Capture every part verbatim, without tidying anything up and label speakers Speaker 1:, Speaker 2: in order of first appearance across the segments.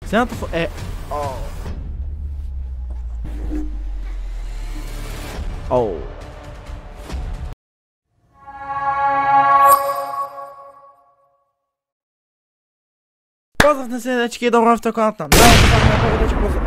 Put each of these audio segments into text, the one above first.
Speaker 1: Следната фо... е... Оу. Оу. Поздрав на се, дечки, и добро в каналот на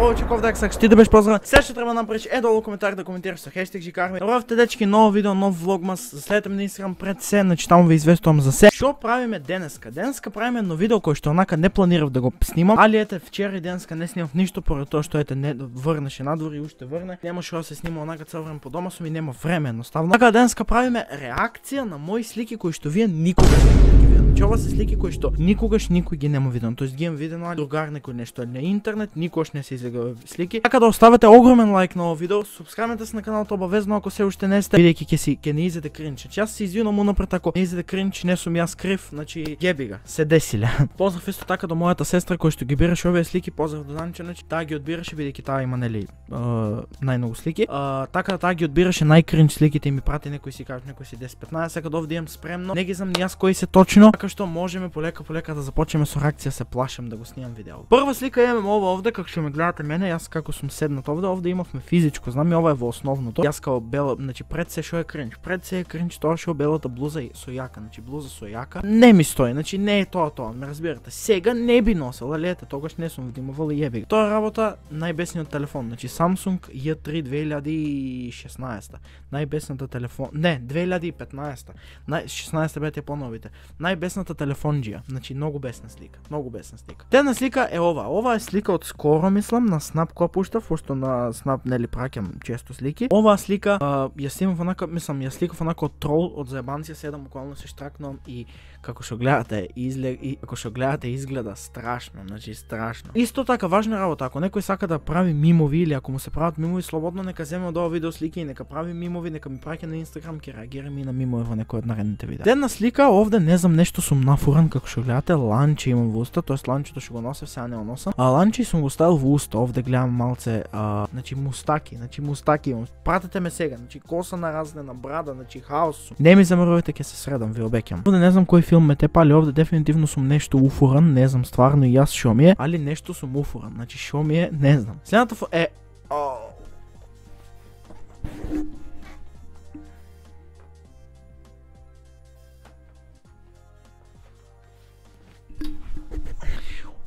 Speaker 1: Очеков Дексак, ще ти да беше поздрав. Сега ще трябва да направиш е долу коментар да коментираш с хештег Жикарми. Добро в дечки, ново видео, нов влогмас. Заследете ме на Инстаграм пред се, значи там ви известувам за се. Шо правиме денеска? Денеска правиме едно видео, кое што онака не планирав да го снимам. Али ете, вчера и денеска не снимав ништо, поради тоа што ете не врнеше надвор и уште врне. Немаше да се снима онака цел време по дома сум и нема време едноставно. Така денеска правиме реакција на мои слики кои што вие никогаш не ги видели. Значи ова се слики кои што никогаш никој ги нема видено. Тоест ги имам видено али другар некој нешто на интернет, никогаш не се излега слики. Така да оставете огромен лайк на ова видео, субскрайбнете се на каналот обавезно ако се уште не сте, бидејќи ќе си ќе не изеде кринч. Јас се извинувам унапред ако не изеде кринч, не сум јас крив, значи геби га, се десиле. Поздрав исто така до мојата сестра која што ги бираше овие слики, поздрав до Данче, значи таа ги одбираше бидејќи таа има нели најмногу слики. Uh, така да таа ги одбираше најкринч сликите и ми прати некои си кажа, некои си десет петнаесет, сега овде имам спремно. Не ги знам ни јас кои се точно, така што можеме полека полека да започнеме со реакција, се плашам да го снимам видео. Прва слика имаме ова овде, како што ме гледате мене, јас како сум седнат овде, овде имавме физичко, знам и ова е во основното. Јас као бела, значи пред се шо е кринч, пред се е кринч тоа што белата блуза и со јака, значи блуза со јака. Не ми стои, значи не е тоа тоа, ме разбирате. Сега не би носел, али ете, тогаш не сум вдимувал и јеби. Тоа работа најбесниот телефон, значи Samsung J три две илјади и шеснаесета. Најбесната телефон, не, две илјади и петнаесета. Нај шеснаесета бете поновите. Најбесната телефонџија, значи многу бесна слика, многу бесна слика. Тена слика е ова, ова е слика од скоро мислам на Snap која пуштав, пошто на Snap нели праќам често слики. Оваа слика а, ја снимав онака, мислам, ја сликав онака од трол, од заебанција, седам буквално се штракнувам и како што гледате излег и како што гледате изгледа страшно, значи страшно. Исто така важна работа, ако некој сака да прави мимови или ако му се прават мимови, слободно нека земе од ова видео слики и нека прави мимови, нека ми праќа на Инстаграм, ќе реагирам и на мимови во некој од наредните видеа. Една слика овде не знам нешто сум нафуран како што гледате, ланче имам во уста, тоест ланчето што го носев, сега не го носам. А ланче сум го ставил во уста, овде гледам малце, а, значи мустаки, значи мустаки имам. Пратете ме сега, значи коса наразнена, брада, значи хаос сум. Не ми замрувате, ќе се средам, ви обеќам. Овде не знам кој филм ме тепа, али овде дефинитивно сум нешто уфуран, не знам стварно и јас шо ми е, али нешто сум уфуран, значи шо ми е, не знам. Следната фо е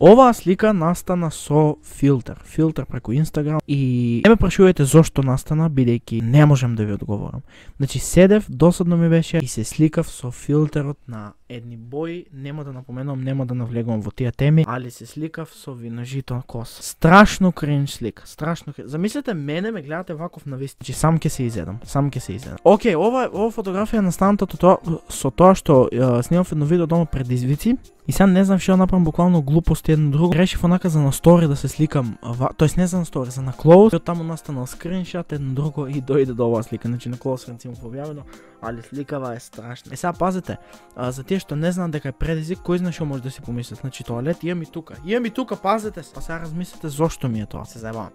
Speaker 1: оваа слика настана со филтер, филтер преку Инстаграм и не ме прашувајте зошто настана, бидејќи не можам да ви одговорам. Значи седев, досадно ми беше и се сликав со филтерот на едни бои, нема да напоменувам, нема да навлегувам во тие теми, али се сликав со виножито коса. Страшно кринж слика, страшно кринж. Замислете мене ме гледате ваков на вист, значи сам ќе се изедам, сам ќе се изедам. Океј, ова ова фотографија настаната тоа со тоа што снимав едно видео дома пред извици. И сега не знам што направам, буквално глупости едно друго. Решив онака за на стори да се сликам, тоест не за на стори, за на клоус. И од таму настанал скриншот едно друго и дојде до оваа слика. Значи на клоус рецимо објавено, али сликава е страшна. Е сега пазете, а, за тие што не знаат дека е предизвик, кој знае што може да си помислат. Значи тоалет имам и тука. Имам и тука, пазете се. Па сега размислете зошто ми е тоа. Се заебавам.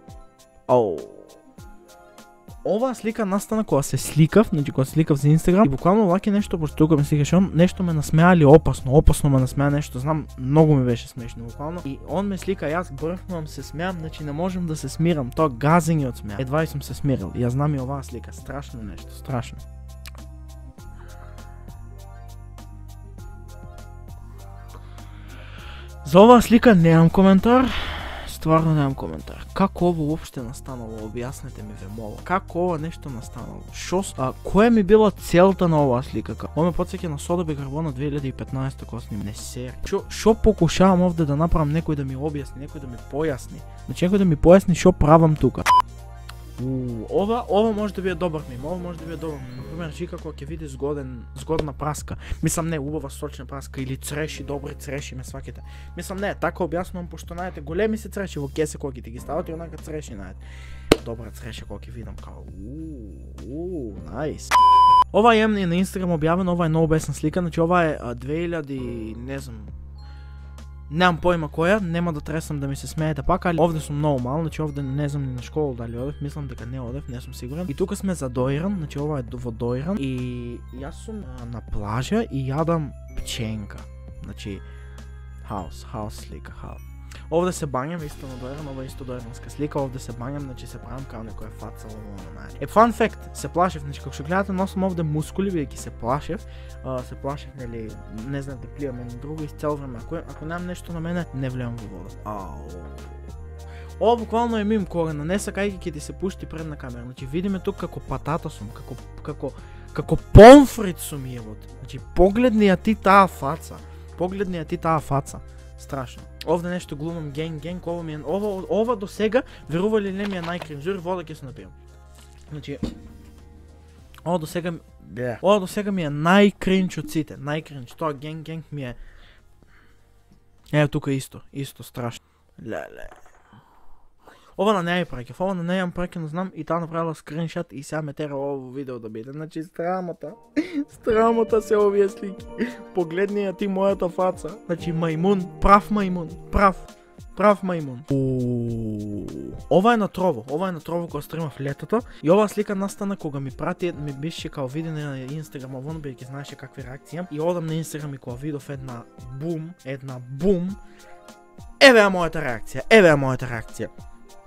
Speaker 1: Оу. Оваа слика настана кога се сликав, значи кога сликав за Инстаграм и буквално лаки нешто, пошто тука ме сликаш он, нешто ме насмеали опасно, опасно ме насмеа нешто, знам, многу ми беше смешно буквално. И он ме слика, јас брфнувам, се смеам, значи не можам да се смирам, тоа газење од смеа. Едва и сум се смирил. Јас знам и оваа слика, страшно нешто, страшно. За оваа слика немам коментар. Стварно немам коментар. Како ово уопште настанало? Објаснете ми, ве молам. Како ова нешто настанало? Шо, а која ми била целта на оваа слика? Ова ме потсеќа на Сода бикарбона две илјади и петнаесета кога сним. Не сери. Шо, шо покушавам овде да направам, некој да ми објасни, некој да ми појасни. Значи некој да ми појасни шо правам тука. Уу, ова, ова може да биде добар мим, ова може да биде добар мим. Например, Жика кога ќе види згоден, згодна праска. Мислам не, убава сочна праска или цреши, добри цреши ме сваките. Мислам не, така објаснувам пошто најдете големи се цреши во кесе кога ќе ти ги стават и онака цреши најдете. Добра цреша кога ќе видам као уу, уу, најс. Ова е на Инстаграм објавено, ова е многу бесна слика, значи ова е две илјади, не знам, немам појма која, нема да тресам да ми се смеете пак, али овде сум многу мал, значи овде не знам ни на школа дали одев, мислам дека не одев, не сум сигурен. И тука сме за Доиран, значи ова е во Доиран и јас сум на плажа и јадам пченка. Значи хаос, хаос слика, хаос. Овде се бањам исто на дојран, ова исто дојранска слика, овде се бањам, значи се правам као некоја фаца, ова на. Е фан факт, се плашев, значи како што гледате носам овде мускули бидејќи се плашев, а, се плашев нели, не знам да плијам едно друго из цел време, ако ако немам нешто на мене, не влеам во вода. Ау. Ова буквално е мим корена, не сакајќи ќе ти се пушти предна камера. Значи видиме тук како патата сум, како како како помфрит сум јебот. Значи погледни ја ти таа фаца. Погледни ја ти таа фаца. Страшно. Овде нешто глумам генг генг, ова ми е ова ова до сега верували не ми е најкринж, дури вода ќе се напијам. Значи ова до сега yeah. Ова до сега ми е најкринж од сите, најкринж. Тоа генг генг ми е. Ево тука исто, исто страшно. Леле. Ова на неја праќав, ова на неја ја праќав, знам, и таа направила скриншот и сега ме тера ово видео да биде. Значи страмота, страмота се овие слики. Погледни ја ти мојата фаца. Значи мајмун, прав мајмун, прав, прав мајмун. Ова е на Трово, ова е на Трово кога стримав летото и оваа слика настана кога ми прати, ми беше као видео на Инстаграм, овоно бидејќи знаеше какви реакции имам и одам на Инстаграм и кога видов една бум, една бум, еве е мојата реакција, еве е мојата реакција.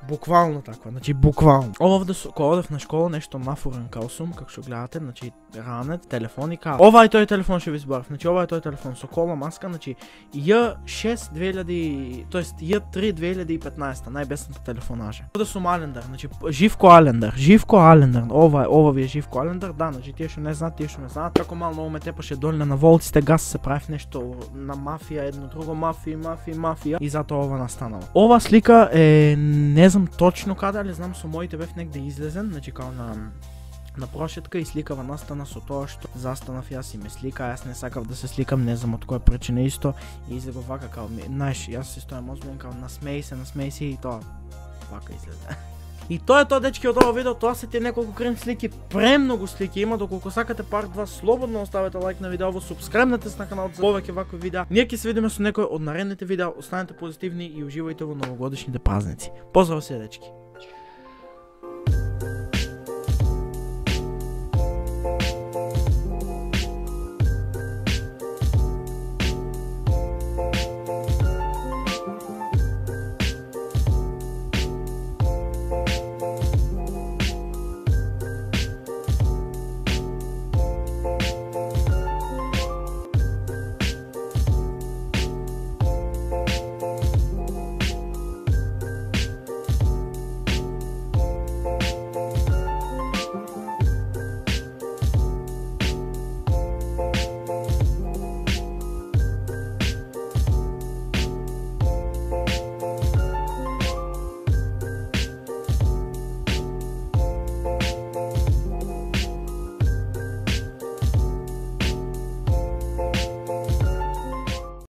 Speaker 1: Буквално таква, значи буквално. Ова овде кога одев на школа нешто нафурен као сум, како што гледате, значи ранет, телефон и као. Ова е тој телефон што ви зборав, значи ова е тој телефон со кола, маска, значи Ј шест две илјади, тоест Ј три две илјади и петнаесета, најбесната телефонажа. Овде сум Алендар, значи Живко Алендар, Живко Алендар. Ова е, ова ви е Живко Алендар, да, значи тие што не знаат, тие што не знаат. Како мал многу ме тепаше доле на волците, гас се правев нешто на мафија, едно друго мафија, мафија, мафија и затоа ова настанало. Ова слика е не знам точно каде, али знам со моите бев негде излезен, значи као на на прошетка и сликава настана со тоа што застанав јас и ме слика, јас не сакав да се сликам, не знам од која причина исто и излего вака као, знаеш, јас се стојам озбилен као насмеј се, насмеј се и тоа вака излезе. И тоа е тоа, дечки, од ова видео, тоа се тие неколку крем слики, премногу слики има, доколку сакате парт два, слободно оставете лайк на видеово, субскребнете се на каналот за повеќе вакви видеа. Ние ќе се видиме со некој од наредните видеа, останете позитивни и уживајте во новогодишните празници. Поздрав се, дечки!